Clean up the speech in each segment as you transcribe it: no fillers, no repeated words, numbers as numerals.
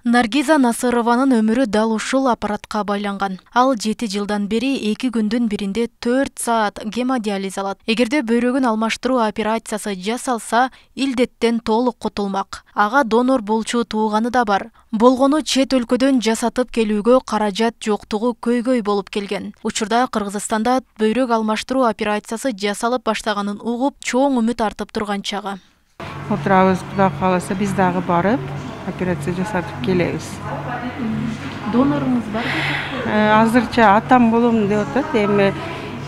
Наргиза Насырованын өмүрү дал ушул аппаратка байланган. Ал 7 жылдан бери 2 күндүн биринде 4 саат гемодиализ алат. Эгерде бөйрөгүн алмаштыруу операциясы жасалса, илдеттен толук кутулмак. Ага донор болчу тууганы да бар. Болгону чет өлкөдөн жасатып келүүгө каражат жоктугу көйгөй болуп келген. Учурда Кыргызстанда бөйрөк алмаштыруу операциясы жасалып баштаганын угуп, чоң үмүт артып турган чагы. Отурабыз, Кудай кааласа, биз дагы барып операция жасатып келебиз. Доноруңуз барбы? Азырча атам болом деп атат. Эми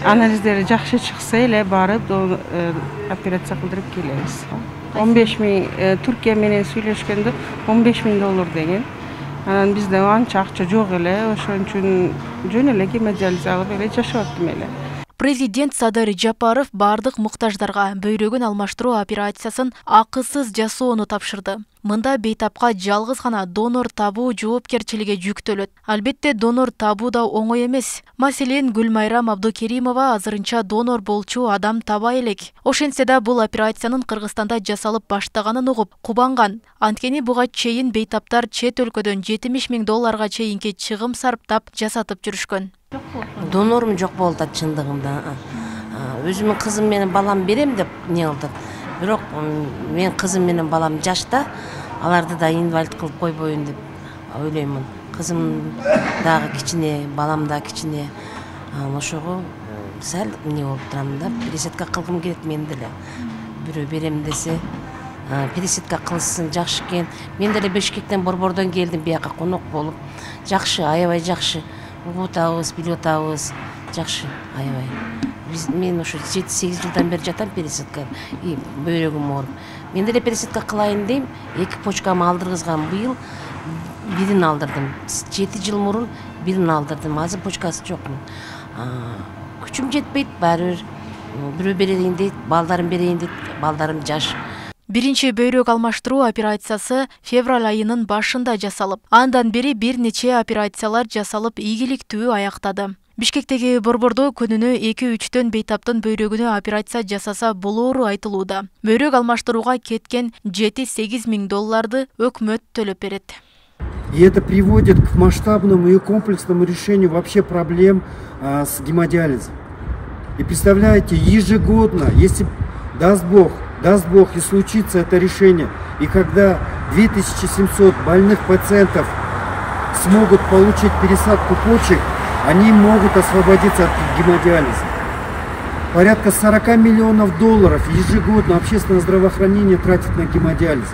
анализдери жакшы чыкса эле барып операция кылдырып келебиз. 15 000 Түркия менен сүйлөшкөндө $15,000 деген. Анан бизде анча акча жок эле, ошон үчүн жөн эле гемодиализ алып эле жашап аттым эле. Президент Садыр Жапаров бардык муктаждарга бөйрөгүн алмаштыруу операциясын акысыз жасоону тапшырды. Мында бейтапка жалгыз гана донор табуу жоопкерчилиги жүктөлөт. Албетте донор табуу да оңой эмес. Маселен, Гүлмайрам Абдукеримова азырынча донор болчу адам табай элек. Ошентсе да бул операциянын Кыргызстанда жасалып баштаганын угуп кубанган. Анткени буга чейин бейтаптар чет өлкөдөн $70,000 чейинки чыгым сарптап жасатып жүрүшкөн. Донорум жок болду чындыгында. Өзүмдүн кызым менен балам берем деп не кылдык. Бирок мен кызым менен балам жашта, аларды да инвалид кылып койбойюн деп ойлоймун. Кызым дагы кичине, балам да кичине. Ошого сал не болуп турам да, пересадка кылгым келет мен деле. Бирөө берем десе, пересадка кылсын жакшы экен. Мен деле Бишкектен, Борбордон келдим бияка конок болуп. Жакшы, аябай жакшы. Угуп атабыз, билип атабыз. Жакшы, аябай. Мен ошо 7-8 жылдан бери жатам пересадка, бөйрөгүм ооруп. Мен деле пересадка кылайын дейм, 2 почкамы алдыргызгам. Быйыл бирин алдырдым. 7 жыл мурун бирин алдырдым. Азыр почкасы жокмун. Күчүм жетпейт, баары бирөө берейин дейт, балдарым берейин дейт, балдарым жаш. Биринчи бөйрөк алмаштыруу операциясы февраль айынын башында жасалып, андан бери бир нече операциялар жасалып ийгиликтүү аяктады. Бишкектеги борбордо күнүнө 2-3 бейтаптын бөйрөгүнө операция жасаса болоору айтылууда. Бөйрөк алмаштырууга кеткен $7-8,000 өкмөт төлөп берет. И это приводит к масштабному и комплексному решению вообще проблем с гемодиализом. И представляете, ежегодно, если даст Бог, и случится это решение, и когда 2700 больных пациентов смогут получить пересадку почек, они могут освободиться от гемодиализа. Порядка $40 миллионов ежегодно общественное здравоохранение тратит на гемодиализ.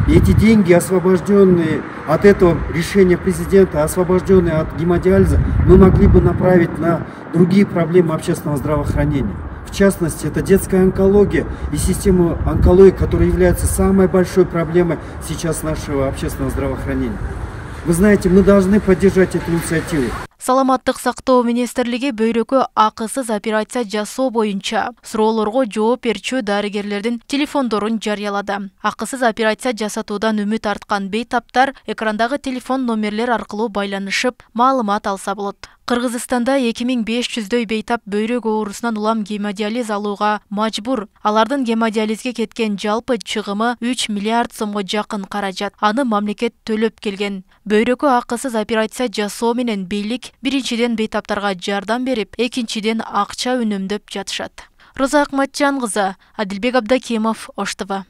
И эти деньги, освобожденные от этого решения президента, освобожденные от гемодиализа, мы могли бы направить на другие проблемы общественного здравоохранения. В частности, это детская онкология и система онкологии, которая является самой большой проблемой сейчас нашего общественного здравоохранения. Вы знаете, мы должны поддержать эту инициативу. Саламаттык сактоо министрлиги бөйрөккө акысыз операция жасоо боюнча суроолорго жооп берчү дарыгерлердин телефондорун жарыялады. Акысыз операция жасатуудан үмүт арткан бейтаптар экрандагы телефон номерлер аркылуу байланышып, маалымат алса болот. Кыргызстанда 2500 бейтап бөйрөк оорусунан улам гемодиализ алууга мажбур. Алардын гемодиализге кеткен жалпы чыгымы 3 миллиард сомго жакын каражат. Аны мамлекет төлөп келген. Бөйрөккө акысыз операция жасоо менен бийлик биринчиден бейтаптарга жардам берип, экинчиден акча үнөмдөп жатышат. Роза Акматжан кызы, Адилбек Абдакимов, Ош ТВ.